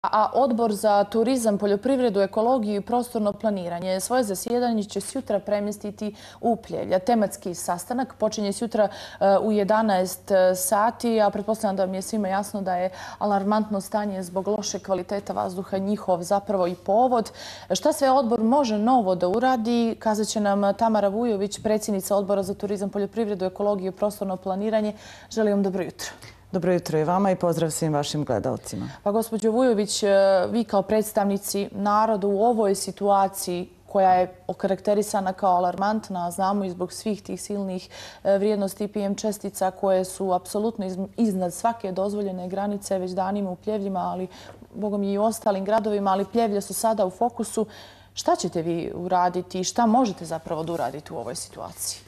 A Odbor za turizam, poljoprivredu, ekologiju i prostorno planiranje svoje zasjedanje će sutra premjestiti u Pljevlja. Tematski sastanak počinje sutra u 11 sati, a pretpostavljam da vam je svima jasno da je alarmantno stanje zbog loše kvaliteta vazduha njihov zapravo i povod. Šta sve odbor može novo da uradi, kazat će nam Tamara Vujović, predsjednica Odbora za turizam, poljoprivredu, ekologiju i prostorno planiranje. Želim vam dobro jutro. Dobro jutro i vama i pozdrav svim vašim gledalcima. Pa gospođo Vujović, vi kao predstavnici naroda u ovoj situaciji koja je okarakterisana kao alarmantna, znamo i zbog svih tih silnih vrijednosti PM čestica koje su apsolutno iznad svake dozvoljene granice već danima u Pljevljima, ali bogom i u ostalim gradovima, ali Pljevlje su sada u fokusu. Šta ćete vi uraditi i šta možete zapravo da uradite u ovoj situaciji?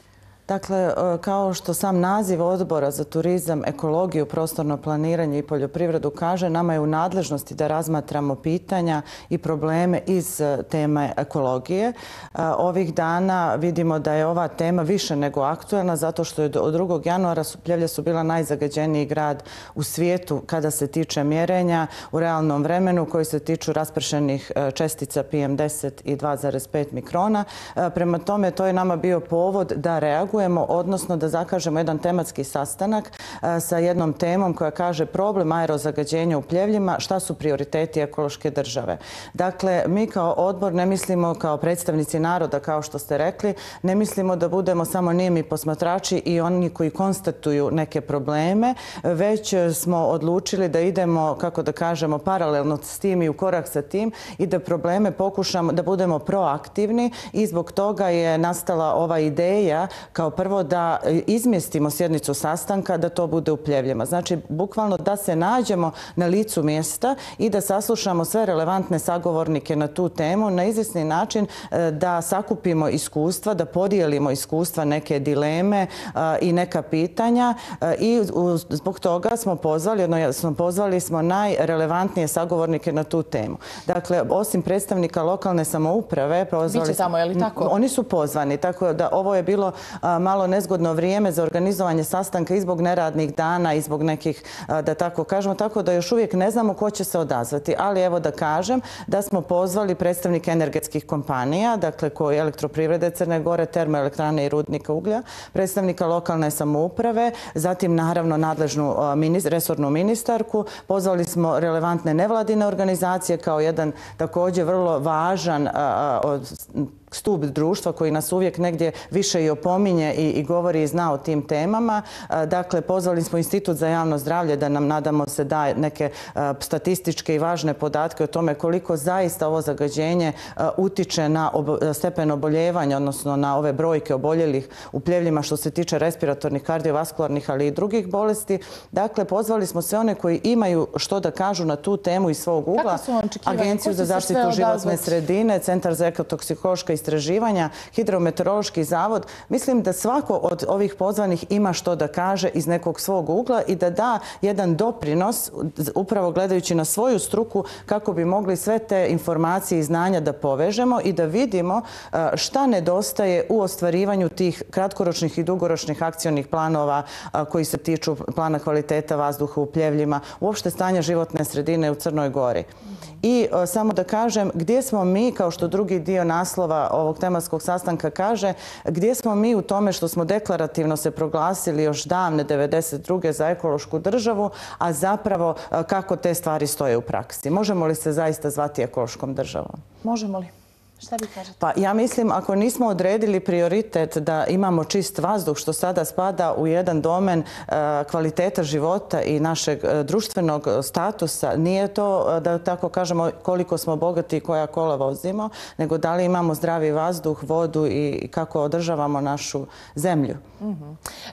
Dakle, kao što sam naziv Odbora za turizam, ekologiju, prostorno planiranje i poljoprivredu kaže, nama je u nadležnosti da razmatramo pitanja i probleme iz teme ekologije. Ovih dana vidimo da je ova tema više nego aktuelna zato što je od 2. januara Pljevlja su bila najzagađeniji grad u svijetu kada se tiče mjerenja u realnom vremenu koji se tiču raspršenih čestica PM10 i 2,5 mikrona. Prema tome, to je nama bio povod da reagujemo, odnosno da zakažemo jedan tematski sastanak sa jednom temom koja kaže problem aerozagađenja u Pljevljima, šta su prioriteti ekološke države. Dakle, mi kao odbor ne mislimo kao predstavnici naroda, kao što ste rekli, ne mislimo da budemo samo nijemi posmatrači i oni koji konstatuju neke probleme, već smo odlučili da idemo, kako da kažemo, paralelno s tim i u korak sa tim i da probleme pokušamo da budemo proaktivni i zbog toga je nastala ova ideja kao prvo da izmjestimo sjednicu sastanka, da to bude u Pljevljima. Znači, bukvalno da se nađemo na licu mjesta i da saslušamo sve relevantne sagovornike na tu temu na izvjesni način da sakupimo iskustva, da podijelimo iskustva, neke dileme i neka pitanja i zbog toga smo pozvali smo najrelevantnije sagovornike na tu temu. Dakle, osim predstavnika lokalne samouprave, biće tamo, je li tako? Oni su pozvani, tako da ovo je bilo malo nezgodno vrijeme za organizovanje sastanka i zbog neradnih dana i zbog nekih, da tako kažemo, tako da još uvijek ne znamo ko će se odazvati. Ali evo da kažem da smo pozvali predstavnike energetskih kompanija, dakle koji Elektroprivrede Crne Gore, termoelektrane i rudnika uglja, predstavnika lokalne samouprave, zatim naravno nadležnu resornu ministarku, pozvali smo relevantne nevladine organizacije kao jedan također vrlo važan stup društva koji nas uvijek negdje više i opominje i govori i zna o tim temama. Dakle, pozvali smo Institut za javno zdravlje da nam, nadamo se, daje neke statističke i važne podatke o tome koliko zaista ovo zagađenje utiče na stepen oboljevanja, odnosno na ove brojke oboljelih u Pljevljima što se tiče respiratornih, kardiovaskularnih, ali i drugih bolesti. Dakle, pozvali smo sve one koji imaju što da kažu na tu temu iz svog ugla. Agenciju za zaštitu životne sredine, Centar za ekotoksikološka istraživanja, Hidrometeorološki zavod. Mislim da svako od ovih pozvanih ima što da kaže iz nekog svog ugla i da da jedan doprinos, upravo gledajući na svoju struku, kako bi mogli sve te informacije i znanja da povežemo i da vidimo šta nedostaje u ostvarivanju tih kratkoročnih i dugoročnih akcionih planova koji se tiču plana kvaliteta vazduha u Pljevljima, uopšte stanja životne sredine u Crnoj Gori. I samo da kažem gdje smo mi, kao što drugi dio naslova ovog tematskog sastanka kaže, gdje smo mi u tome što smo deklarativno se proglasili još davne 92. za ekološku državu, a zapravo kako te stvari stoje u praksi. Možemo li se zaista zvati ekološkom državom? Možemo li? Šta vi kažete? Pa ja mislim, ako nismo odredili prioritet da imamo čist vazduh, što sada spada u jedan domen kvaliteta života i našeg društvenog statusa, nije to, da tako kažemo, koliko smo bogati i koja kola vozimo, nego da li imamo zdravi vazduh, vodu i kako održavamo našu zemlju.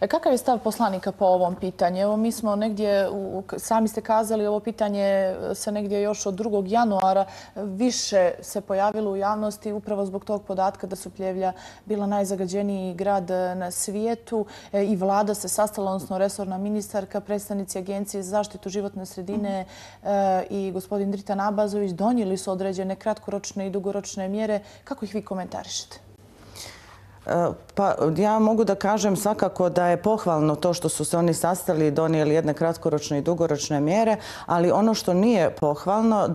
Kakav je stav poslanika po ovom pitanju? Evo, mi smo negdje, sami ste kazali, ovo pitanje se negdje još od 2. januara više se pojavilo u javnosti upravo zbog tog podatka da su Pljevlja bila najzagađeniji grad na svijetu i vlada se sastala, odnosno resorna ministarka, predstavnici Agencije za zaštitu životne sredine i gospodin Dritan Abazović donijeli su određene kratkoročne i dugoročne mjere. Kako ih vi komentarišete? Pa ja mogu da kažem svakako da je pohvalno to što su se oni sastali i donijeli jedne kratkoročne i dugoročne mjere, ali ono što nije pohvalno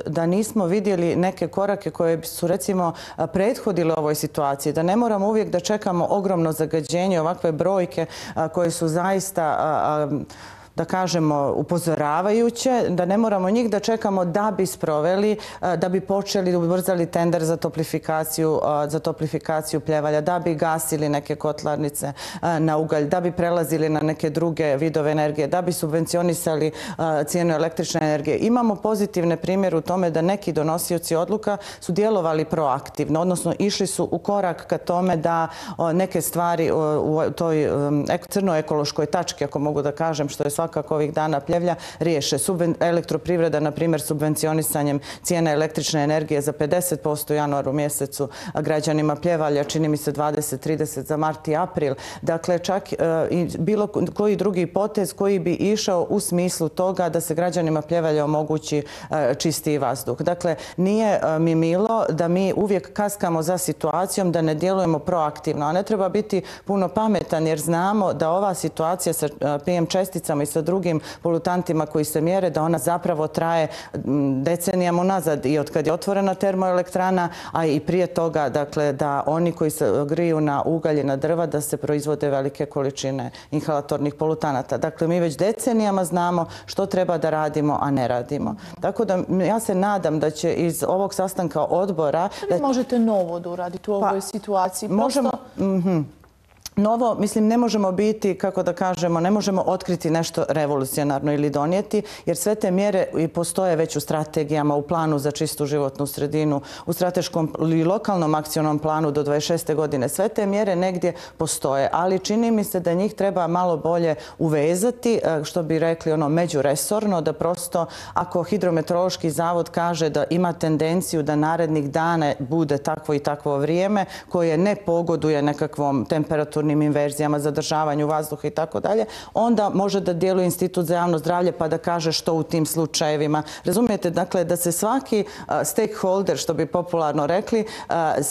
da nismo vidjeli neke korake koje su recimo prethodile ovoj situaciji, da ne moramo uvijek da čekamo ogromno zagađenje, ovakve brojke koje su zaista da kažemo upozoravajuće, da ne moramo njih da čekamo da bi sproveli, da bi počeli, ubrzali tender za toplifikaciju Pljevalja, da bi gasili neke kotlarnice na ugalj, da bi prelazili na neke druge vidove energije, da bi subvencionisali cijenu električne energije. Imamo pozitivne primjere u tome da neki donosioci odluka su djelovali proaktivno, odnosno išli su u korak ka tome da neke stvari u toj crnoj ekološkoj tački, ako mogu da kažem, što je svakako ovih dana Pljevlja, riješe. Elektroprivreda, na primjer, subvencionisanjem cijene električne energije za 50% u januaru mjesecu građanima Pljevalja, čini mi se 20-30 za mart i april. Dakle, čak i bilo koji drugi potez koji bi išao u smislu toga da se građanima Pljevalja omogući čistiji vazduh. Dakle, nije mi milo da mi uvijek kaskamo za situacijom, da ne djelujemo proaktivno, a ne treba biti puno pametan jer znamo da ova situacija sa PM česticama i sa drugim polutantima koji se mjere, da ona zapravo traje decenijama unazad i od kad je otvorena termoelektrana, a i prije toga, dakle, da oni koji se griju na ugalj i na drva, da se proizvode velike količine inhalatornih polutanata. Dakle, mi već decenijama znamo što treba da radimo, a ne radimo. Tako da ja se nadam da će iz ovog sastanka odbora... Vi možete novo da uradite u ovoj situaciji? Možemo... Novo, mislim, ne možemo biti, kako da kažemo, ne možemo otkriti nešto revolucionarno ili donijeti, jer sve te mjere postoje već u strategijama, u planu za čistu životnu sredinu, u strateškom i lokalnom akcionom planu do 26. godine. Sve te mjere negdje postoje, ali čini mi se da njih treba malo bolje uvezati, što bi rekli međuresorno, da prosto ako Hidrometeorološki zavod kaže da ima tendenciju da narednih dana bude takvo i takvo vrijeme koje ne pogoduje nekakvom temperaturnim inverzijama, zadržavanju vazduha i tako dalje, onda može da djeluje Institut za javno zdravlje pa da kaže što u tim slučajevima. Razumijete, dakle, da se svaki stakeholder, što bi popularno rekli,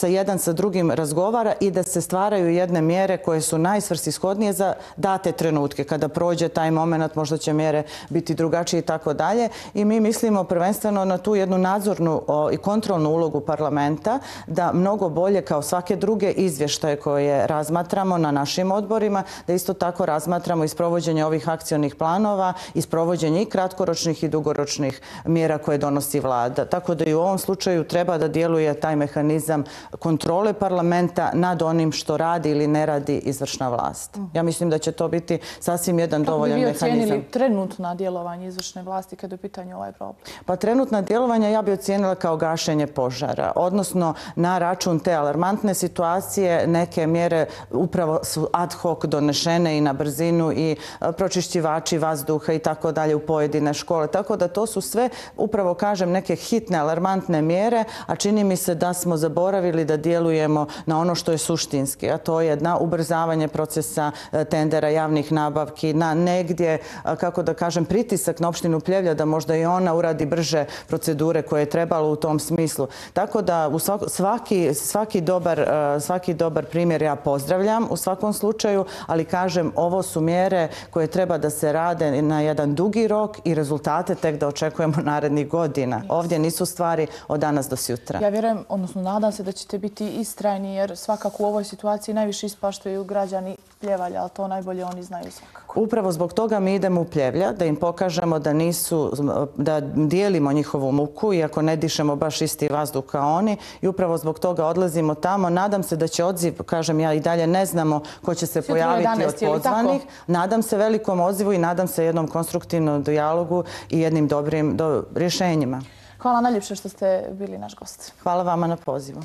jedan sa drugim razgovara i da se stvaraju jedne mjere koje su najsvrsishodnije za date trenutke. Kada prođe taj moment, možda će mjere biti drugačije i tako dalje. I mi mislimo prvenstveno na tu jednu nadzornu i kontrolnu ulogu parlamenta, da mnogo bolje kao svake druge izvještaje koje razmatramo na našim odborima, da isto tako razmatramo i sprovođenje ovih akcionih planova i sprovođenje i kratkoročnih i dugoročnih mjera koje donosi vlada. Tako da i u ovom slučaju treba da djeluje taj mehanizam kontrole parlamenta nad onim što radi ili ne radi izvršna vlast. Ja mislim da će to biti sasvim jedan dovoljan mehanizam. Kako bi vi ocijenili trenutna djelovanja izvršne vlasti kada je u pitanju ovaj problem? Pa trenutna djelovanja ja bi ocijenila kao gašenje požara, odnosno na račun te alarmantne situacije neke mjere upravo su ad hoc donešene i na brzinu i pročišćivači vazduha i tako dalje u pojedine škole. Tako da to su sve, upravo kažem, neke hitne, alarmantne mjere, a čini mi se da smo zaboravili da djelujemo na ono što je suštinski, a to je na ubrzavanje procesa tendera, javnih nabavki, na negdje, kako da kažem, pritisak na opštinu Pljevlja da možda i ona uradi brže procedure koje je trebalo u tom smislu. Tako da svaki dobar primjer ja pozdravljam u svakom slučaju, ali kažem, ovo su mjere koje treba da se rade na jedan dugi rok i rezultate tek da očekujemo narednih godina. Ovdje nisu stvari od danas do sutra. Ja vjerujem, odnosno nadam se da ćete biti istrajni, jer svakako u ovoj situaciji najviše ispaštaju građani Pljevalja, ali to najbolje oni znaju svakako. Upravo zbog toga mi idemo u Pljevlja, da im pokažemo da dijelimo njihovu muku, iako ne dišemo baš isti vazduh kao oni, i upravo zbog toga odlazimo tamo. Nadam se da će odziv, kažem ja i dalje ne znamo ko će se pojaviti od pozvanih. Nadam se velikom odzivu i nadam se jednom konstruktivnom dijalogu i jednim dobrim rješenjima. Hvala najljepše što ste bili naš gost. Hvala vama na pozivu.